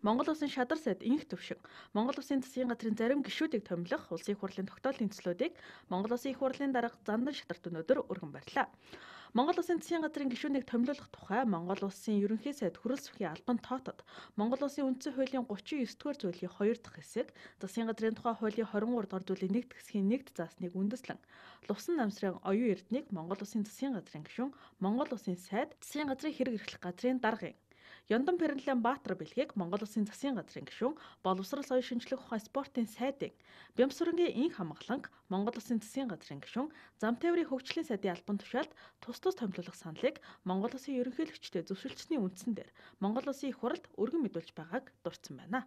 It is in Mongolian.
Монгол улсын шадар сайд инх төвшин, Монгол улсын засгийн газрын зарим гишүүдийг томилох улсын их хурлын тогтоолын төслүүдийг Монгол улсын их хурлын дарга Зандан шатарт өнөөдөр өргөн барьлаа. Монгол улсын засгийн газрын гишүүнийг томилуулах тухай Монгол улсын ерөнхий сайд Хүрэл сүхийн албан тоотод Монгол улсын үндсэн хуулийн 39-р зүйлийн 2 дахь хэсэг, засгийн газрын тухай хуулийн 23 дугаар зүйлийн 1 дахь хэсгийн 1 заасныг үндэслэн Лувсан намсрын оюун эрднийг Монгол улсын засгийн газрын гишүүн, Монгол улсын сайд, засгийн газрын хэрэг эрхлэх газрын даргын Ёндон Пэрнлэм Баатар бэлгийг Монгол улсын засгийн газрын гишүүн, боловсрол соёл шинжлэх ухаан спортын сайдын, Бямсүрэнгийн инх хамгааланг, Монгол улсын засгийн газрын гишүүн, зам тээврийн хөгжлийн сайдын албан тушаалд тус томилуулах саналыг Монгол улсын ерөнхийлөгчдөө зөвшөлдсөний үндсэн дээр Монгол улсын их хурлд өргөн мэдүүлж байгааг дурдсан байна.